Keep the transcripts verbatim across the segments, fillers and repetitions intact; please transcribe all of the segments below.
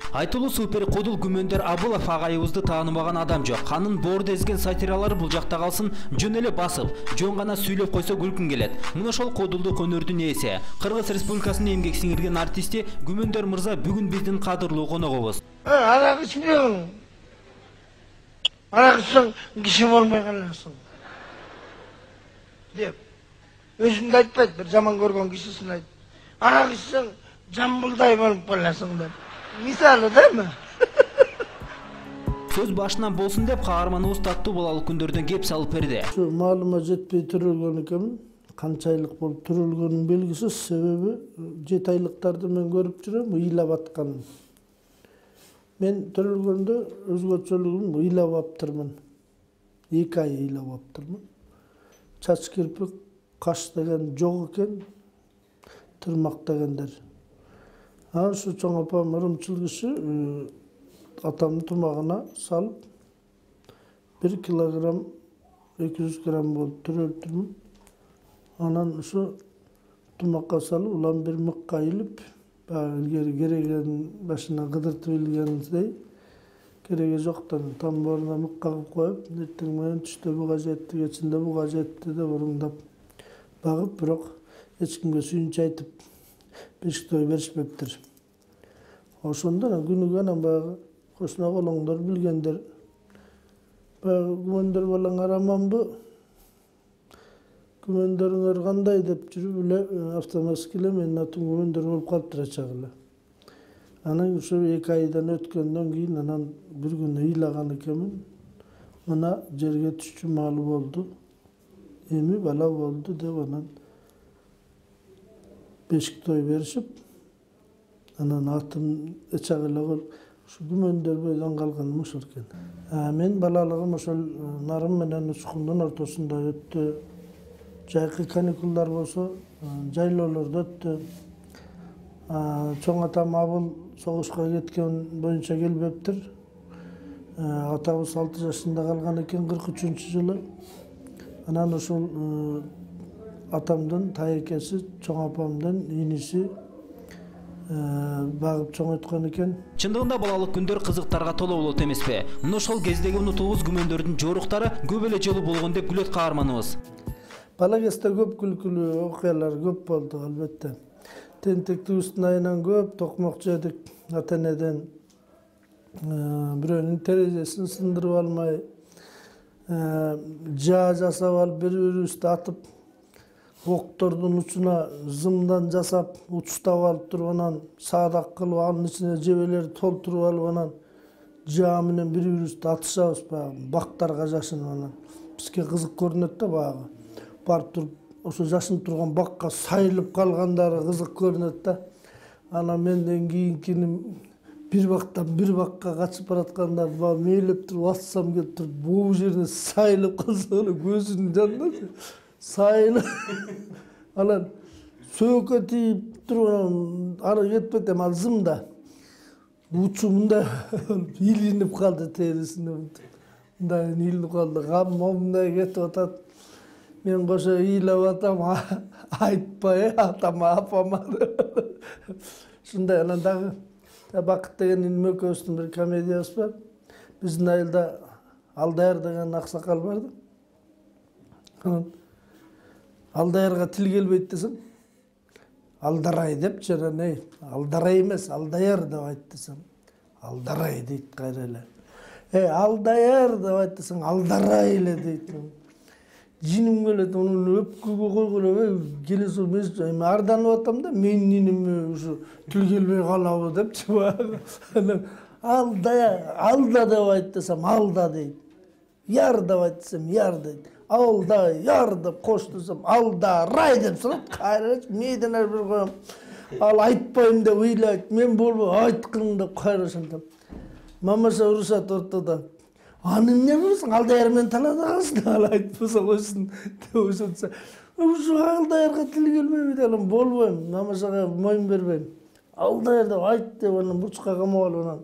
Айтылуу супер кодул Күмөндөр Абылов агайыбызды тааныбаган адам жок. Анын боорду эзген сатиралары бул жакта калсын, жөн эле басып, жөн гана сүйлөп койсо күлкүн келет. Мына ошол кодулдук өнөрдүн ээси, Кыргыз Республикасынын эмгек сиңирген артисти Күмөндөр мырза бүгүн биздин кадырлуу коногубуз. Арак ичпейм. Арак ичсең киши болмой каласың. Деп. Өзүндө айтпайт, бир жаман көргөн кишисин айт. Арак ичсең жамбылдай болуп каласың деп. Мисалы дейми? Сөз башынан болсун деп каарманыбыз таттуу балалык күндөрдөн кеп салып берди. Şu маалыма жетпей төрөлгөн экенмин. Канча айлык болуп төрөлгөнүм белгисиз, себеби жети айлыктарды мен көрүп жүрөм, ыйлап аткан. Мен төрөлгөндө өзгөчөлүгүм ыйлап аптырмын. эки ай ыйлап аптырмын. Чач кирпик, каш деген жок экен, тырмак дегендер. Анан ушу чоң апам ырымчыл киши атамдын тумагына салып бир килограмм эки жүз грамм болуп төрөлтүрмүн. Анан ушу тумакка салып улам бир мыкка илип, илгери кереген башына кыдыртып илгендей кереги жоктон тамборуна мыкка кылып коюп, эртең менен түштө буга жетти, кечинде буга жетти деп уруңдап багып, бирок эч кимге сүйүнчү айтып бешик той беришпептир. Ошондо күнүгө анан баягы кошуна колоңдор билгендер баягы Күмөндөр балаң араманбы? Күмөндөрүңөр кандай деп жүрүп эле автоматически эле менин атым Күмөндөр болуп калыптыр ачак эле. Анан ушу эки айдан өткөндөн кийин анан бир күнү ыйлаган экенмин. Мына жерге түшчү маалы болду. Эми бала болду деп анан бешик той беришип, анан атын ачак эле коюп, ушу Күмөндөр бойдон калган ушул экен. Мен балалыгым ошол Нарым менен Учкундун ортосунда өттү. Жайкы каникулдар болсо жайлоолордо өттү. Чоң атам Абыл согушка кеткен боюнча келбептир. Атабыз алты жашында калган экен кырк үчүнчү жылы. Анан ушул атамдын тайекеси, чоң апамдын иниси багып чоңойткон экен. Чындыгында балалык күндөр кызыктарга толо болот эмеспи? Мына ошол кездеги унутуубуз Күмөндөрдүн жоруктары көп эле жолу болгон деп күлөт каарманыбыз. Бала кезде көп күлкүлүү окуялар көп болду, албетте. Тентектибиздин айынан көп токмок жедик ата-энеден. Бирөөнүн терезесин сындырып алмай, жаа жасап алып бири-бирибизди атып, октордун учуна зымдан жасап, учтап алып туруп анан саадак кылып, анын ичине жебелерди толтуруп алып анан жаа менен бири-бирибизди атышабыз, баягы бактарга жашынып анан. Бизге кызык көрүнөт да баягы. Барып туруп, ошо жашынып турган бакка сайылып калгандары кызык көрүнөт да. Анан менден кийинкинин бир бактан бир бакка качып бараткандарды баягы мээлеп туруп атсам келип туруп, бул жерине сайылып калса эле көзүнүн жанында сайылып. Анан сөөгкө тийип туруп, ары кетпет эми ал зымда. Учу мындай илинип калды терисине. Мындай илинип калды, кам момундай кетип атат. Мен кошо ыйлап атам, айтпай атама, апама. Ушундай анан дагы Бакыт деген иним экөөбүздүн бир комедиябыз бар. Биздин айылда Алдаяр деген аксакал бар да. Анан Алдаярга тил келбейт десем, Алдарай деп жана эй, Алдарай эмес, Алдаяр деп айт десем, Алдарай дейт кайра эле. Эй, Алдаяр деп айт десең, Алдарай эле дейт. Жиним келет, анын өпкөгө койгон, келесо мен арданып атам да, менин иниме ушу тил келбей калабы депчи баягы. Анан Алдая, Алда деп айт десем, Алда дейт. Яр деп айт десем, Яр дейт. Алда, Яр деп кош десем, Алдарай деп сурат. Кайра мейден ар бир коем. Ал айтпайм деп ыйлайт. Мен болбой айткын деп кайра ошентем. Мамаша урушат ортодо. Аны эмне болсоң, Алдаяр менен таанадыңызбы? Ал айтпаса койсун деп ошентсе. Ушу Алдаярга тил келбейби деп анан болбойм. Мамашага моюн бербейм. Алдаяр деп айт деп анан бурчка камап алып анан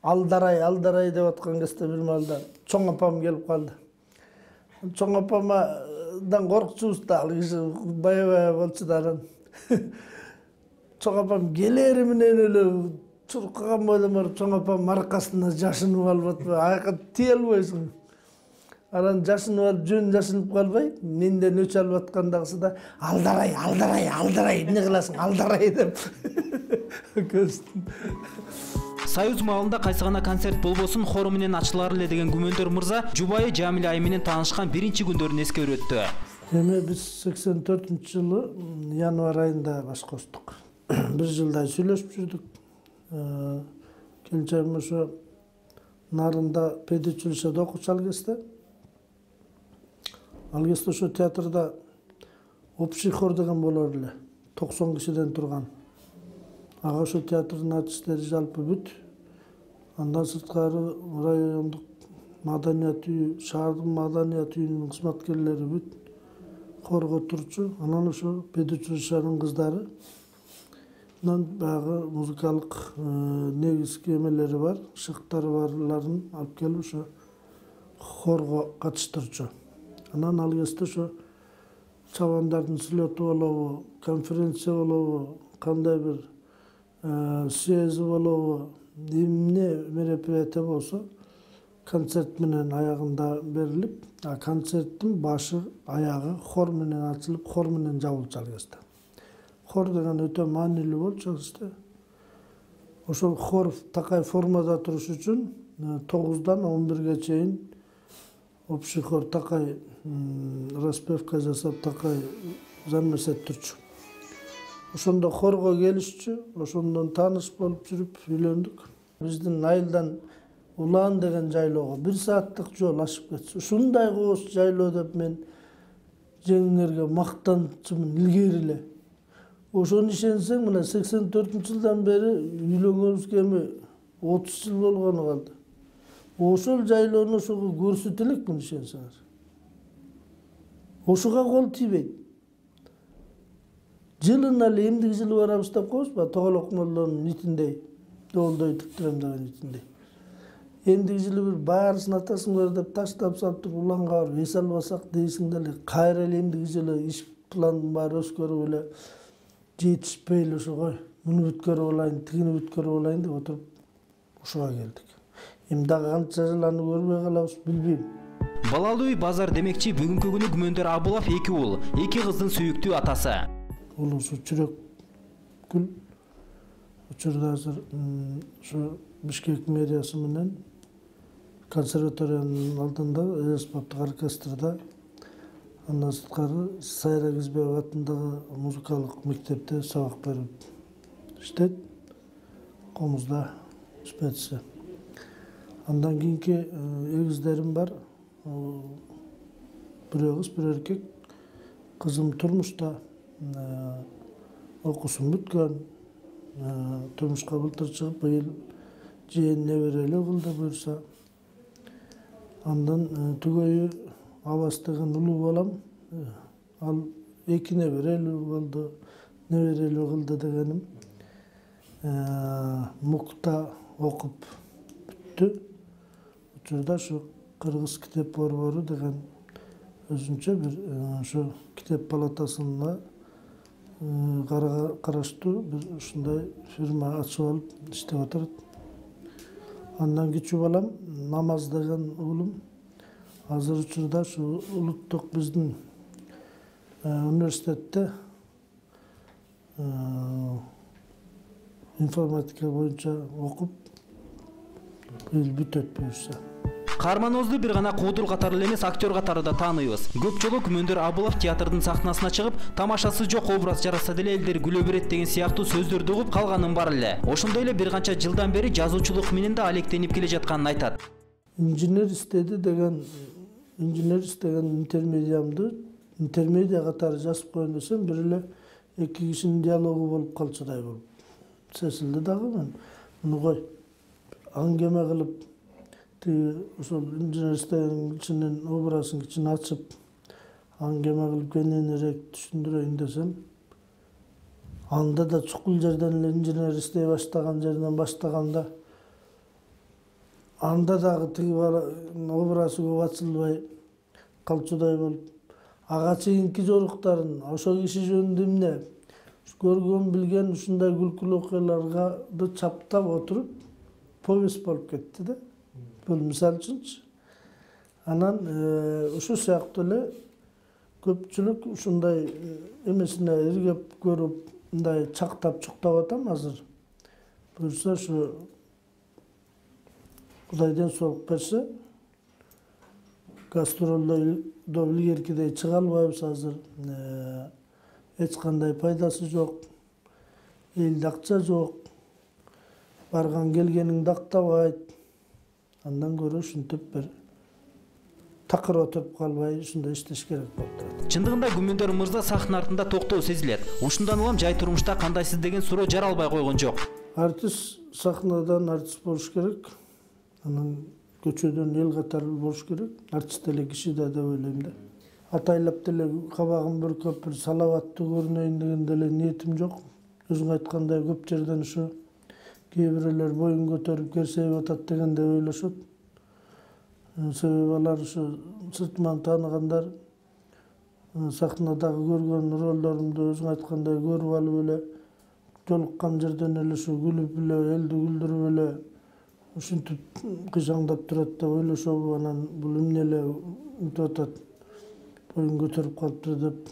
Алдарай, Алдарай деп аткан кезде бир маалда чоң апам келип калды. Чоң апамдан коркчубуз да, ал киши бая-бая болчу да анан. Чоң апам келери менен эле чуркаган бойдон барып чоң апамдын аркасына жашынып алып атпайбы, аяка тие албайсың. Анан жашынып алып жөн жашынып калбай, менден өч алып аткандагысы да алдарай, алдарай, алдарай, эмне кыласың, алдарай деп көздүм. Союз маалында кайсы гана концерт болбосун хору менен ачылар эле деген Күмөндөр мырза жубайы Жамиля айым менен таанышкан биринчи күндөрүн эскерип өттү. Эми биз сексен төртүнчү жылы январь айында баш кочтук. Бир жылдай сүйлөшүп жүрдүк. Келинчегим ошо Нарында педучилищеде окучу ал кезде. Ал кезде ошо театрда общий хор деген болор эле. токсон кишиден турган. Ага ошо театрдын артисттери жалпы бүт. Андан сырткары райондук маданият үйү, шаардын маданият үйүнүн кызматкерлери бүт хорго турчу. Анан ошо педучилищенин кыздары. Анан баягы музыкалык негизги эмелери бар, шыктары барларын алып келип ошо хорго катыштырчу. Анан ал кезде ошо чабандардын слету болобу, конференция болобу, кандай бир съезди болобу, эмне мероприятие болсо концерт менен аягында берилип, а концерттин башы аягы хор менен ачылып, хор менен жабылчу ал кезде. Хор деген өтө маанилүү болчу ал кезде. Ошол хор такай формада туруш үчүн тогуздан он бирге чейин общий хор такай распевка жасап, такай занавес эттирчү. Ошондо хорго келишчү, ошондон тааныш болуп жүрүп үйлөндүк. Биздин айылдан Улаан деген жайлоого бир сааттык жол ашып кетчү. Ушундай кооз жайлоо деп мен жеңиңерге мактанчумун илгери эле. Ошону ишенсең, мына сексен төртүнчү жылдан бери үйлөнгөнүбүзгө эми отуз жыл болгону калды. Ошол жайлоону ошого көрсөтө элекмин ишенсеңер. Ошого кол тийбейт. Жылына эле эмдиги жылы барабыз деп коебузбу, Тоголок молдонун нитиндей, доолдой тиктирем деген нитиндей. Эмдиги жылы бир баарысын атасыңар деп таштап салып туруп Улаанга барып эс албасак дейсиң деле, кайра эле эмдиги жылы иш пландын баары өзгөрүп эле жетишпей эле ошого муну бүткөрүп алайын, тигини бүткөрүп алайын деп отуруп ушуга келдик. Эми дагы канча жыл аны көрбөй калабыз билбейм. Балалуу үй базар демекчи бүгүнкү күнү Күмөндөр Абылов эки уул, эки кыздын сүйүктүү атасы. Улусу Чүрөкгүл учурда азыр ушу Бишкек мэриясы менен консерваториянын алдында эспоптук оркестрде, андан сырткары Сайра Кизбекова атындагы музыкалык мектепте сабак берип иштейт. Комузда специя. Андан кийинки эгиздерим бар. Бирөө кыз, бирөө эркек. Кызым турмушта, окуусун бүткөн, турмушка былтыр чыгып, быйыл жээн неберелүү кылды буюрса. Андан түгөйү Абас деген улуу балам, ал эки неберелүү болду, неберелүү кылды дегеним. Мукта окуп бүттү. Учурда ушу Кыргыз китеп борбору деген өзүнчө бир ошо китеп палатасына караштуу бир ушундай фирма ачып алып иштеп атат. Андан кичүү балам Намаз деген уулум азыр учурда ушу улуттук биздин университетте информатика боюнча окуп быйыл бүтөт буюрса. Каарманыбызды бир гана куудул катары эле эмес, актер катары да тааныйбыз. Көп жолу Күмөндөр Абылов театрдын сахнасына чыгып, тамашасы жок образ жаратса деле элдер күлө берет деген сыяктуу сөздөрдү угуп калганын бар эле. Ошондой эле бир канча жылдан бери жазуучулук менен да алектенип келе жатканын айтат. Инженер истеди деген, инженер истеген интермедиямды интермедиа катары жазып коеюн десем, бир эле эки кишинин диалогу болуп калчудай болуп сезилди дагы. Мен муну кой аңгеме кылып ошол инженер истеген кишинин образын кичине ачып аңгеме кылып кененирээк түшүндүрөйүн десем, анда да чукул жерден эле инженер иштей баштаган жеринен баштаганда анда дагы тиги образы көп ачылбай калчудай болуп, ага чейинки жоруктарын ошол киши жөнүндө эмне, көргөн билген ушундай күлкүлүү окуяларды чаптап отуруп повесть болуп кетти да. Бул мисал үчүнчү. Анан ушул сыяктуу эле көпчүлүк ушундай эмесине иргеп көрүп мындай чактап чуктап атам азыр. Буюрса ушу Кудай ден соолук берсе, гастролдо илгеркидей чыга албайбыз азыр. Эч кандай пайдасы жок. Элде акча жок. Барган келгениңди актабайт. Андан көрө ушинтип бир такыр отуруп калбай ушундай иштеш керек болуп турат. Чындыгында Күмөндөр мырза сахна артында токтоо сезилет. Ушундан улам жай турмушта кандайсыз деген суроо жаралбай койгон жок. Артист сахнадан артист болуш керек. Анан көчөдөн эл катары болуш керек. Артист деле киши да деп ойлойм да. Атайлап деле кабагым бүркөп бир салаваттуу көрүнөйүн деген деле ниетим жок. Өзүң айткандай көп жерден ушу кээ бирөөлөр боюн көтөрүп керсейип атат деген деп ойлошот. Себеби алар ушу сыртыман тааныгандар сахнадагы көргөн ролдорумду өзүң айткандай көрүп алып эле жолуккан жерден эле ушу күлүп эле элди күлдүрүп эле ушинтип кыйшаңдап турат деп ойлошобу, анан бул эмне эле мынтип атат боюн көтөрүп калыптыр деп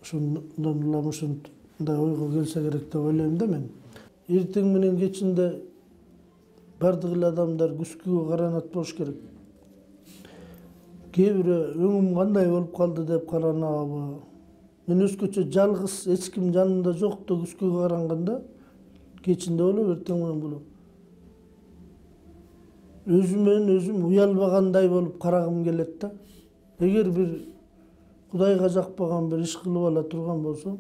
ошондон улам ушундай ойго келсе керек деп ойлойм да мен. Эртең менен кечинде бардык эле адамдар күзгүгө каранат болуш керек. Кээ бирөө өңүм кандай болуп калды деп каранабы. Мен өзгөчө жалгыз эч ким жанымда жокто күзгүгө каранганда кечинде болуп, эртең менен болуп. Өзүмөн өзүм уялбагандай болуп карагым келет да. Эгер бир Кудайга жакпаган бир иш кылып ала турган болсом,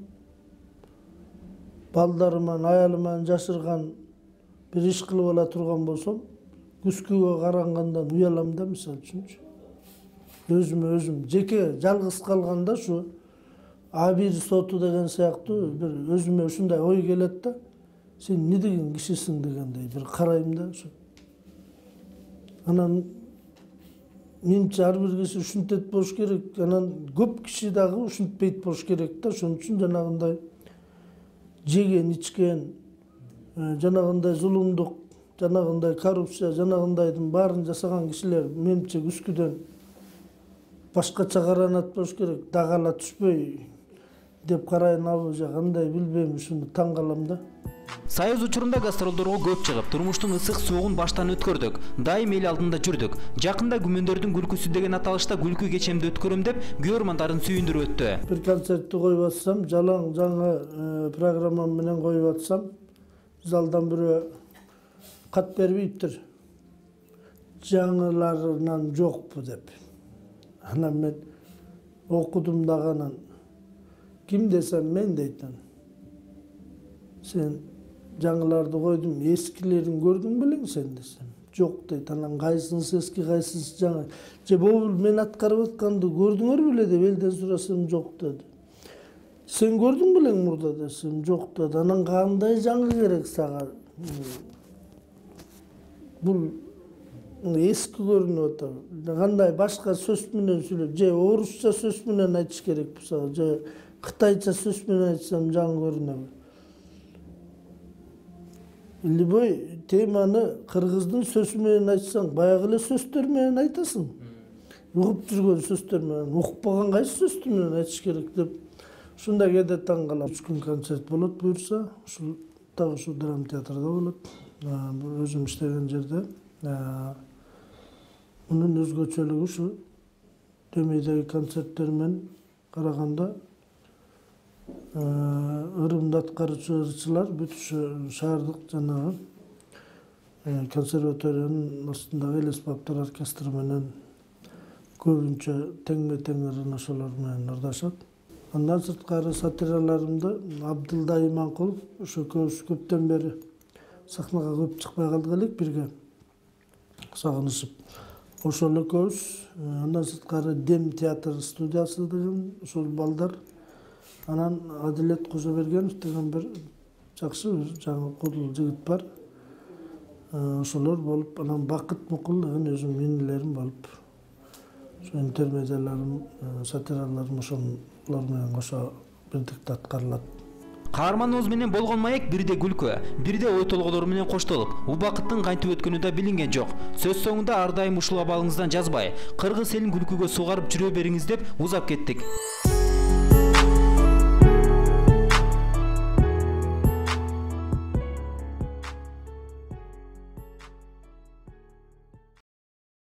балдарыман, аялыман жашырган бир иш кылып ала турган болсом, күзгүгө карангандан уялам да, мисалы үчүнчү. Өзүмө өзүм жеке жалгыз калганда ушу абир соту деген сыяктуу бир өзүмө ушундай ой келет да. Сен эмне деген кишисиң дегендей бир карайм да ушу. Анан менимче ар бир киши ушинтет болуш керек. Анан көп киши дагы ушинтпейт болуш керек да. Ошон үчүн жанагындай жеген, ичкен, жанагындай зулумдук, жанагындай коррупция, жанагындайдын баарын жасаган кишилер менимче күзгүдөн башкача каранат болуш керек. Дагала түшпөй деп карайынабы же кандай билбейм, ушуну таң калам да. Союз учурунда гастролдорго көп чыгып, турмуштун ысык суугун баштан өткөрдүк. Дайым эл алдында жүрдүк. Жакында Күмөндөрдүн күлкүсү деген аталышта күлкү кечемди өткөрөм деп көрөрмандарын сүйүндүрүп өттү. Бир концертти коюп атсам, жалаң жаңы программам менен коюп атсам, залдан бирөө кат бербейиптир. Жаңыларынан жокпу деп. Анан мен окудум дагы анан ким десем мен дейтин. Сен жаңыларды койдум, эскилерин көрдүң белең сен десем. Жок дейт. Анан кайсынысы эски, кайсынысы жаңы. Же могул мен аткарып атканды көрдүңөр беле деп элден сурасам жок деди. Сен көрдүң белең мурда десем жок деди. Анан кандай жаңы керек сага? Бул эски көрүнүп атат. Кандай башка сөз менен сүйлөп, же орусча сөз менен айтыш керек болсо, же кытайча сөз менен айтсам жаңы көрүнөбү? Любой теманы кыргыздын сөзү менен айтсаң, баягы эле сөздөр менен айтасың. Угуп жүргөн сөздөр менен, укпаган кайсы сөздү менен айтыш керек деп ушундай кээде таң калам. Үч күн концерт болот буюрса, ушул дагы ушул драма театрда болот. Өзүм иштеген жерде. Мунун өзгөчөлүгү ушу Төмөйдөгү концерттер менен караганда ырымды аткаруучулар бүт ушу шаардык жанагы консерваториянын астындагы элестаптар оркестры менен көбүнчө теңме-тең ырын ошолор менен ырдашат. Андан сырткары сатираларымды Абдылда Иманкулов ошо көбүс көптөн бери сахнага көп чыкпай калдык элек бирге сагынышып. Ошол экөөбүз. Андан сырткары Дем театр студиясы деген ошол балдар. Анан Адилет Кожобергенов деген бир жакшы жаңы кудул жигит бар. Ошолор болуп, анан Бакыт Мукул деген өзүм инилерим болуп. Ошо интермедиаларым, сатираларым ошолор менен кошо бирдикте аткарылат. Каарманыбыз менен болгон маек бирде күлкү, бирде ой толгоолор менен коштолуп, убакыттын кантип өткөнү да билинген жок. Сөз соңунда ар дайым ушул абалыңыздан жазбай, кыргыз элин күлкүгө сугарып жүрө бериңиз деп узап кеттик.